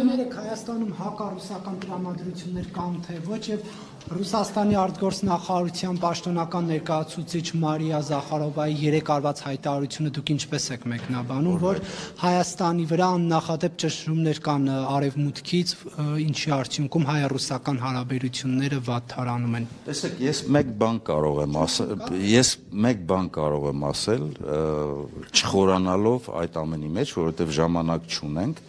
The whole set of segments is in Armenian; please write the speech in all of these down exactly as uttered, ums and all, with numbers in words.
Ներեք Հայաստանում հակառուսական տրամադրություններ կան թե ոչ եւ Ռուսաստանի արտգործնախարարության պաշտոնական ներկայացուցիչ Մարիա Զախարովայի երեք արված հայտարարությունը դուք ինչպես եք մեկնաբանում, որ Հայաստանի վրա աննախադեպ ճնշումներ կան արևմուտքից, ինչի արդյունքում հայ-ռուսական հարաբերությունները վատթարանում են։ Տեսեք, ես մեկ բան կարող եմ ասել, ես մեկ բան կարող եմ ասել, չխորանալով այդ ամենի մեջ, որովհետեւ ժամանակ չունենք,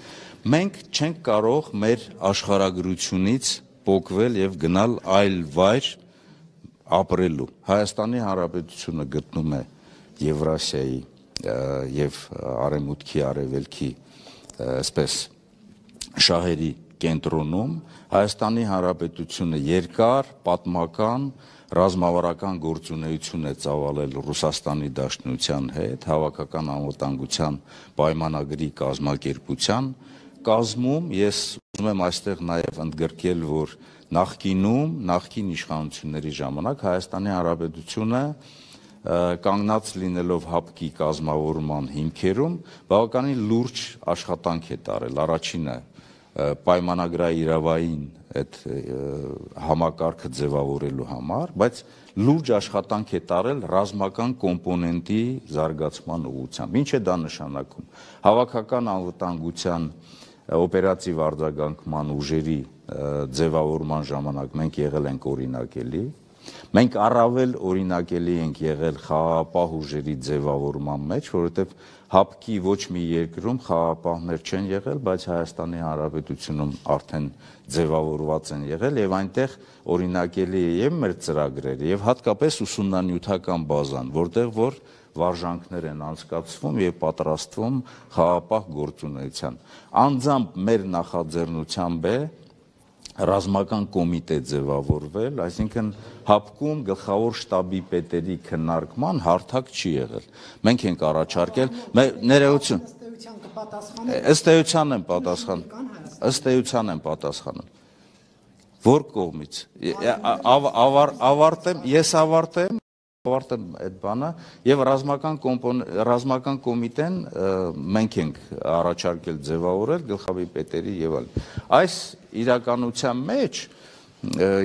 մենք չենք կարող մեր աշխարհագրությունից պոկվել եւ գնալ այլ վայր ապրելու։ Հայաստանի Հանրապետությունը գտնում է Եվրասիայի եւ Արևմուտքի Արևելքի այսպես շահերի կենտրոնում, Հայաստանի Հանրապետությունը երկար պատմական ռազմավարական գործունեություն է ծավալել Ռուսաստանի Դաշնության հետ, հավաքական անվտանգության պայմանագրի կազմակերպության կազմում, ես ուզում եմ այստեղ նաև ընդգրկել, որ նախկինում, նախկին իշխանությունների ժամանակ Հայաստանի Հանրապետությունը կանգնած լինելով հապկի կազմավորման հիմքերում, բավականին լուրջ աշխատանք է տարել, առաջինը պայմանագրային իրավային այդ համակարգը ձևավորելու համար, բայց լուրջ աշխատանք է տարել ռազմական կոմպոնենտի զարգացման ուղղությամբ։ Ինչ է դա նշանակում։ Հավաքական անվտանգության օպերատիվ արձագանքման ուժերի ձևավորման ժամանակ մենք եղել ենք օրինակելի, մենք առավել օրինակելի ենք եղել խաղաղապահ ուժերի ձևավորման մեջ, որովհետև հապկի ոչ մի երկրում խաղաղապահներ չեն եղել, բայց Հայաստանի Հանրապետությունում արդեն ձևավորված են եղել եւ այնտեղ օրինակելի է եւ մեր ծրագրերը եւ հատկապես ուսումնանյութական բազան, որտեղ որ վարժանքներ են անցկացվում եւ պատրաստվում խաղաղապահ գործունեության։ Անձամբ մեր նախաձեռնությամբ է ռազմական կոմիտե ձևավորվել, այսինքն հապկում գլխավոր շտաբի պետերի քննարկման հարթակ չի եղել։ Մենք ենք առաջարկել, ներողություն, ըստ էության եմ պատասխանում, ըստ էության եմ պատասխանում։ Որ կողմից, ավարտեմ, ես ավարտեմ, ավարտեմ այդ բանը եւ ռազմական ռազմական կոմիտեն մենք ենք առաջարկել ձևավորել գլխավոր պետերի եւ այլն։ Այս իրականության մեջ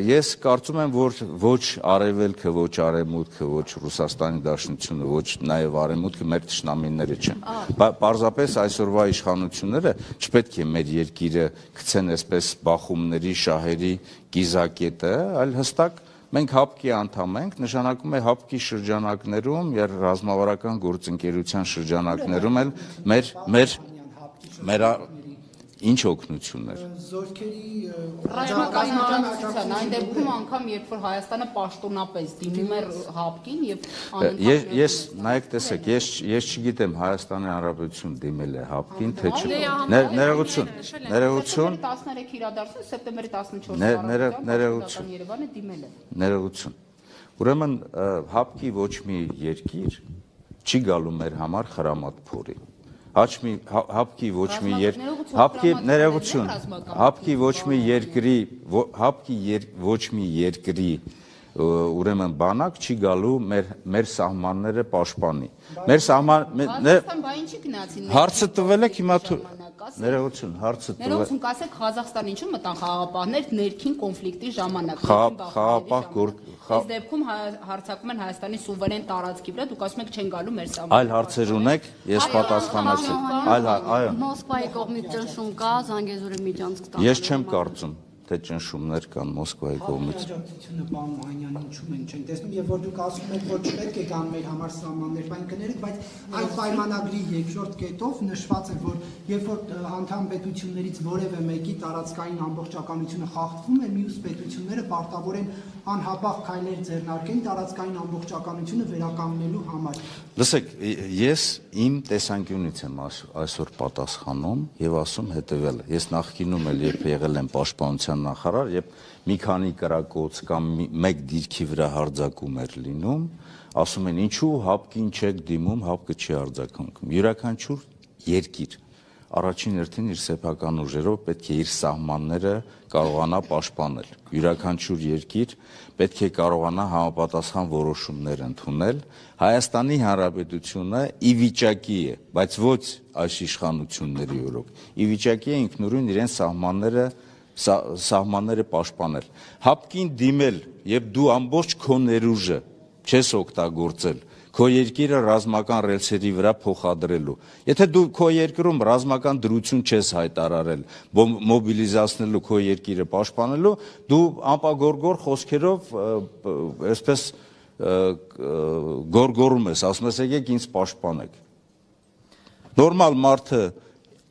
ես կարծում եմ, որ ոչ արևելքը, ոչ արևմուտքը, ոչ Ռուսաստանի Դաշնությունը, ոչ նաեւ արևմուտքը մեր թշնամիները չեն։ Պարզապես այսօրվա իշխանությունները չպետք է մեր երկիրը գցեն այսպես բախումների, շահերի կիզակետը, այլ հստակ մենք հապկի անդամ ենք, նշանակում է հապկի շրջանակներում եւ ռազմավարական գործընկերության շրջանակներում էլ մեր մեր մեր ինչ օգնություններ։ Զորքերի ռազմական այն դեպքում անգամ երբ որ Հայաստանը պաշտոնապես դիմում է հապկին եւ ես նայեք տեսեք, ես ես չգիտեմ Հայաստանի Հանրապետություն դիմել է հապկին թե չէ։ Ներողություն, ներողություն տասներեք իրադարձություն սեպտեմբերի տասնչորսը ներողություն Երևանը դիմել է։ Ներողություն։ Ուրեմն հապկի ոչ մի երկիր չի գալու մեր համար խրամատ փորի։ Հապկի հապկի ոչ մի եր հապկի ներողություն հապկի ոչ մի երկրի հապկի ոչ մի երկրի ուրեմն բանակ չի գալու մեր մեր սահմանները պաշտպանի մեր սահման հարցը տվել եք հիմա ներողություն հարցը տվել ներողություն կասեք Ղազախստան ինչու մտան խաղաղապահներ ներքին կոնֆլիկտի ժամանակ խաղաղապահ այս դեպքում հարցակում են Հայաստանի սուվերեն տարածքի վրա դուք ասում եք չեն գալու մեր սահման այլ հարցեր ունեք ես պատասխանեցի այլ այո Մոսկվայի կողմից ճնշում կա Զանգեզուրի Միջանցք տանը ես չեմ կարծում թե ճնշումներ կան Մոսկվայի կողմից Հաջորդությունը պարոն Մանյան ինչու մենք չենք տեսնում եւ որ դուք ասում եք որ չպետք է կան մեր համար սահմաններ բան կներեք բայց այդ պայմանագրի երկրորդ կետով նշված է որ երբ որ անդամ պետություններից որևէ մեկի տարածքային ամբողջականությունը խախտվում է մյուս պետությունները պարտավոր են անհապաղ քայլեր ձեռնարկեն տարածքային ամբողջականությունը վերականգնելու համար Լսեք ես իմ տեսանկյունից եմ այսօր պատասխանում եւ ասում հետեւյալը ես նախկինում էլ երբ եղել եմ պաշտպանության նախարար, երբ մի քանի կրակոց կամ մեկ դիրքի վրա հարձակում էր լինում, ասում են ինչու հապկին չեք դիմում, հապկը չի հարձակվում։ Յուրաքանչյուր երկիր առաջին հերթին իր սեփական ուժերով պետք է իր սահմանները կարողանա պաշտպանել։ Յուրաքանչյուր երկիր պետք է կարողանա համապատասխան որոշումներ ընդունել։ Հայաստանի Հանրապետությունը ի վիճակի է, բայց ոչ այս իշխանությունների օրոք, ի վիճակի է ինքնուրույն իրեն սահմանները սահմանները պաշտպանել։ Հապկին դիմել եւ դու ամբողջ քո ներուժը չես օգտագործել քո երկիրը ռազմական ռելսերի վրա փոխադրելու։ Եթե դու քո երկրում ռազմական դրություն չես հայտարարել մոբիլիզացնելու քո երկիրը պաշտպանելու, դու անպագորգոր խոսքերով այսպես գորգորում ես, ասում ես եկեք ինձ պաշտպանեք։ Նորմալ մարդը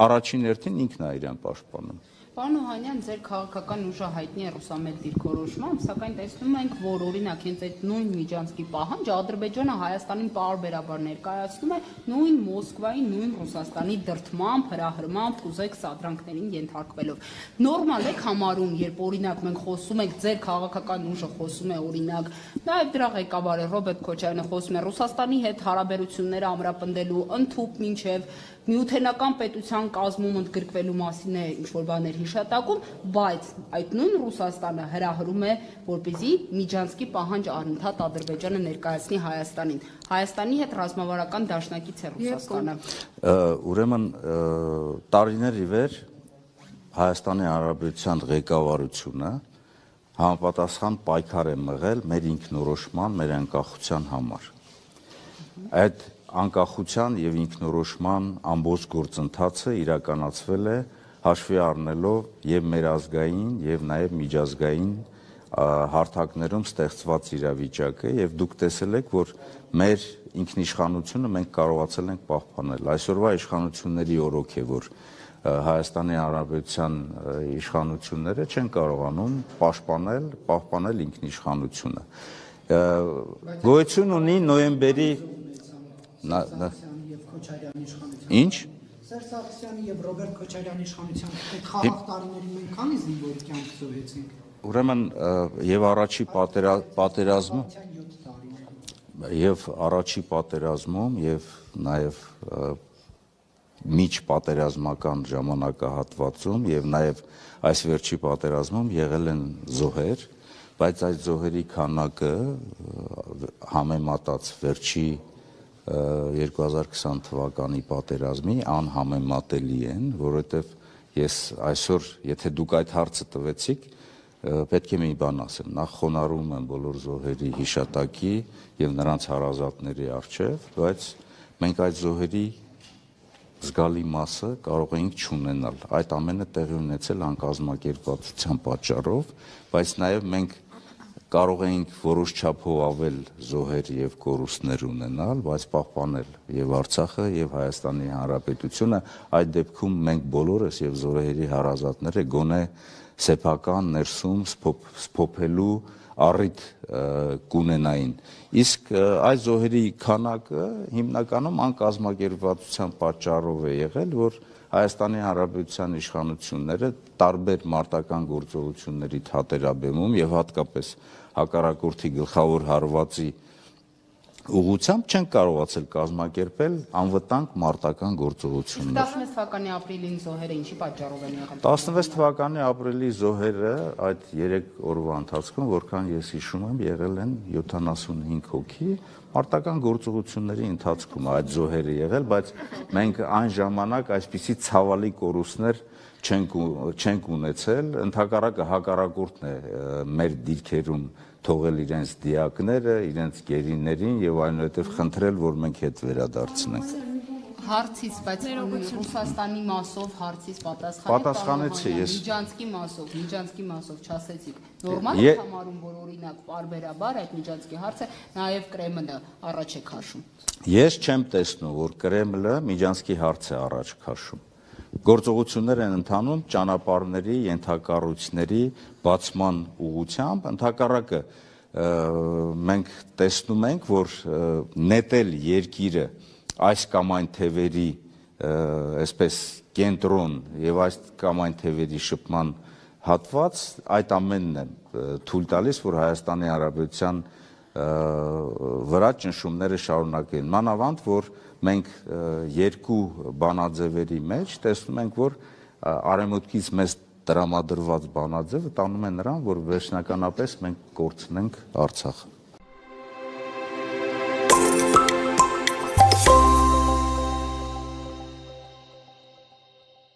առաջին հերթին ինքն է իրեն պաշտպանում։ Պարոն Օհանյան, ձեր քաղաքական ուժը հայտնի է ռուսամետ դիրքորոշմամբ, սակայն տեսնում ենք, որ օրինակ հենց այդ նույն Միջանցքի պահանջը Ադրբեջանը Հայաստանին պարբերաբար ներկայացնում է նույն Մոսկվայի, նույն Ռուսաստանի դրդմամբ, հրահրմամբ, կուզեք սադրանքներին ենթարկվելով։ Նորմալ եք համարում, երբ օրինակ մենք խոսում ենք, ձեր քաղաքական ուժը խոսում է օրինակ, նաև դրա ղեկավարը Ռոբերտ Քոչարյանը խոսում է Ռուսաստանի հետ հարաբերությունները ամրապնդելու, ընդհուպ մինչև Միութենական պետության կազմում ընդգրկվելու մասին է ինչ-որ բաներ հիշատակում, բայց այդ նույն Ռուսաստանը հրահրում է, որպեսզի Միջանցքի պահանջ անընդհատ Ադրբեջանը ներկայացնի Հայաստանին։ Հայաստանի հետ ռազմավարական դաշնակից է Ռուսաստանը։ Ուրեմն տարիներ ի վեր Հայաստանի Հանրապետության ղեկավարությունը համապատասխան պայքար է մղել մեր ինքնորոշման, մեր անկախության համար։ Այդ անկախության եւ ինքնորոշման ամբողջ գործընթացը իրականացվել է հաշվի առնելով եւ մեր ազգային եւ նաեւ միջազգային հարթակներում ստեղծված իրավիճակը եւ դուք տեսել եք, որ մեր ինքնիշխանությունը մենք կարողացել ենք պահպանել։ Այսօրվա իշխանությունների օրոք է, որ Հայաստանի Հանրապետության իշխանությունները չեն կարողանում պաշտպանել, պահպանել ինքնիշխանությունը։ Գոյություն ունի նոյեմբերի Ինչ? Սերժ Սարգսյանի եւ Ռոբերտ Քոչարյանի իշխանության այդ խաղաղ տարիների մենք քանի զինվոր կյանք զոհեցինք։ Ուրեմն եւ առաջի պատերազմում եւ առաջի պատերազմում եւ նաեւ միջ պատերազմական ժամանակահատվածում եւ նաեւ այս վերջի պատերազմում եղել են զոհեր, բայց այդ զոհերի քանակը համեմատած վերջի երկու հազար քսան թվականի պատերազմի անհամեմատելի են, որովհետև ես այսօր, եթե դուք այդ հարցը տվեցիք, պետք է մի բան ասեմ, նախ խոնարհում եմ բոլոր զոհերի հիշատակի եւ նրանց հարազատների առջեւ, բայց մենք այդ զոհերի զգալի մասը կարող էինք չունենալ։ Այդ ամենը տեղի ունեցել անկազմակերպվածության պատճառով, բայց նաեւ մենք կարող էինք որոշ չափով ավել զոհեր եւ կորուստներ ունենալ, բայց պահպանել եւ Արցախը եւ Հայաստանի Հանրապետությունը, այդ դեպքում մենք բոլորս եւ զոհերի հարազատները գոնե սեփական ներսում սփոփելու առիթ կունենային։ Իսկ այս զոհերի քանակը հիմնականում անկազմակերպվածության պատճառով է եղել, որ Հայաստանի Հանրապետության իշխանությունները տարբեր մարտական գործողությունների թատերաբեմում եւ հատկապես հակառակորդի գլխավոր հարվածի ուղղությամբ չեն կարողացել կազմակերպել անվտանգ մարտական գործողություններ։ տասնվեց թվականի ապրիլին զոհերը ինչի պատճառով են եղել։ տասնվեց թվականի ապրիլի զոհերը այդ երեք օրվա ընթացքում, որքան ես հիշում եմ, եղել են յոթանասունհինգ հոգի, մարտական գործողությունների ընթացքում այդ զոհերը եղել, բայց մենք այն ժամանակ այսպիսի ցավալի կորուստներ չենք չենք ունեցել, ընդհակառակը հակառակորդն է մեր դիրքերում թողել իրենց դիակները, իրենց գերիներին եւ այնուհետեւ խնդրել, որ մենք հետ վերադարձնենք։ Հարցից, բայց Ռուսաստանի մասով հարցից պատասխանեք։ Պատասխանեցի ես։ Միջանցքի մասով, Միջանցքի մասով չասեցիք։ Նորմալ է համարում, որ օրինակ պարբերաբար այդ Միջանցքի հարցը նաեւ Կրեմլը առաջ է քաշում։ Ես չեմ տեսնում, որ Կրեմլը Միջանցքի հարց է առաջ քաշում։ Գործողություններ են ընթանում ճանապարհների, ենթակառույցների բացման ուղղությամբ, ընդհակառակը մենք տեսնում ենք, որ նետել երկիրը այս կամ այն թևերի այսպես կենտրոն եւ այս կամ այն թևերի շփման հատված, այդ ամենն է թույլ տալիս, որ Հայաստանի Հանրապետության վրա ճնշումները շարունակեն։ Մանավանդ, որ մենք երկու բանաձևերի մեջ տեսնում ենք, որ արևմուտքից մեզ տրամադրված բանաձևը տանում է նրան, որ վերջնականապես մենք կորցնենք Արցախը։